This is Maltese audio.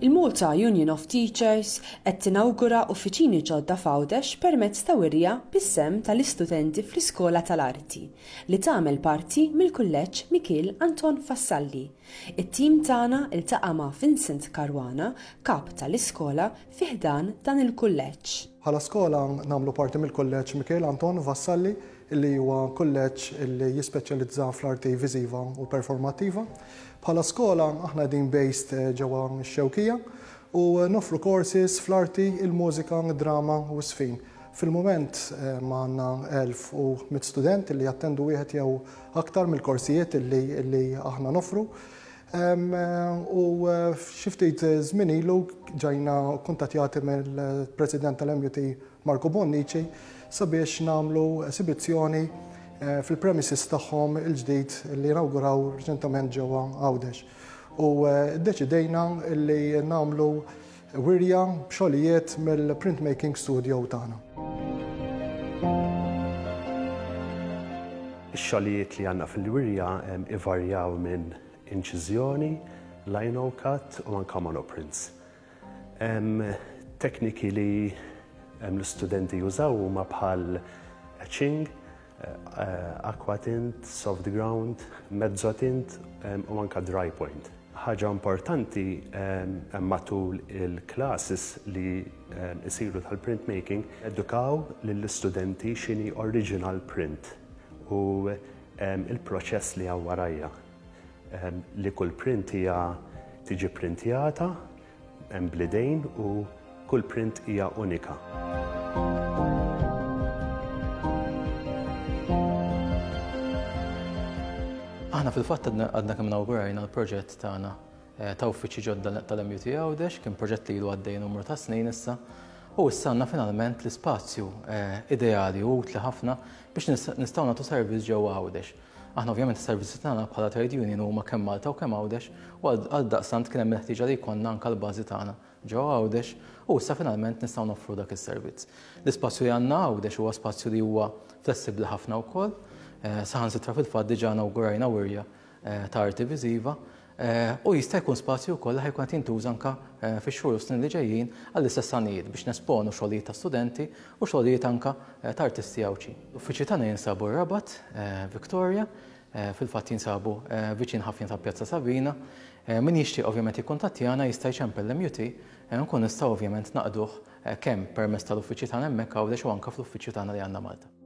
Il-Malta Union of Teachers qed tinawgura uffiċini ġodda f'Għawdex permezz ta' wirja bis-sehem tal-istudenti fl-Iskola tal-Arti, li tagħmel parti mill-Kulleġġ Mikiel Anton Vassalli. It-tim tagħna ltaqa' ma' Vincent Caruana, Kap tal-Iskola fi ħdan dan il-kulleġġ. Bħala skola nagħmlu parti mill-Kulleġġ Mikiel Anton Vassalli li huwa kulleġġ li jispeċjalizza fl-arti viżiva u performattiva. Bħala skola aħna qegħdin based ġewwa x-Xewkija u noffru courses fl-arti, il-mużika, id-drama u ż-żfin. Fil-mument għandna 1,100 student li jattendu wieħed jew aktar mill-korsijiet li aħna noffru. U xi ftit żmien ilu ġejna kkuntattjati mill-President tal-MUT Marco Bonnici sabiex nagħmlu esibizzjoni fil-premises tagħhom il-ġdid li inawguraw reċentament ġewwa Għawdex. U ddeċidejna li nagħmlu wirja b'xogħlijiet mill-printmaking studio tagħna. Ix-xogħlijiet li għandna fil-wirja ivarjaw minn inċiżjoni, lino cut u anke monoprints. Tekniki li l-istudenti jużaw huma bħal etching, aquatint, soft ground, mezzotint u anke dry point. Ħaġa importanti matul il-classes li jsiru tal-printmaking, edukaw lill-istudenti x'inhi original print u il-proċess li hawn warajja. Li kull print hija tiġi printjata bl-idejn u kull print hija unika. Aħna fil-fatt għadna kemm inawgurajna l-proġett tagħna eh, ta' uffiċċji ġodda tal-MUT Għawdex, kien proġett li ilu għaddej numru ta' snin issa, u issa għandna finalment l-ispazju eh, ideali u utli ħafna biex nistgħu nagħtu servizz ġewwa Għawdex. Aħna ovvjament is-servizzi tagħna bħala trade union huma kemm Malta u kemm Għawdex u għaldaqstant kien hemm il-ħtieġa li jkollna anke l-bażi tagħna ġewwa Għawdex u issa finalment nistgħu noffru dak is-servizz. L-ispazju li għandna Għawdex huwa spazju li huwa flessibbli ħafna wkoll, saħansitra fil-fatt diġà inawgurajna wirja ta' arti viżiva U jista' jkun spazju wkoll li ħa jkun qed jintuża anke fix-xhur u s-snin li ġejjin għall-istess għanijiet biex nesponu xogħlijiet ta' studenti u xogħlijiet anke ta' artisti Għawdxin. L-uffiċċji tagħna jinsabu r-Rabat, Victoria, fil-fatt jinsabu viċin ħafna ta' Pjazza Sabina. Min jixtieq ovvjament jikkuntattjana jista' jċempel l-MUT u nkunu nistgħu ovvjament naqduh kemm permezz tal-uffiċċji tagħna hemmhekk Għawdex u anke fl-uffiċċju tagħna li għandna Malta.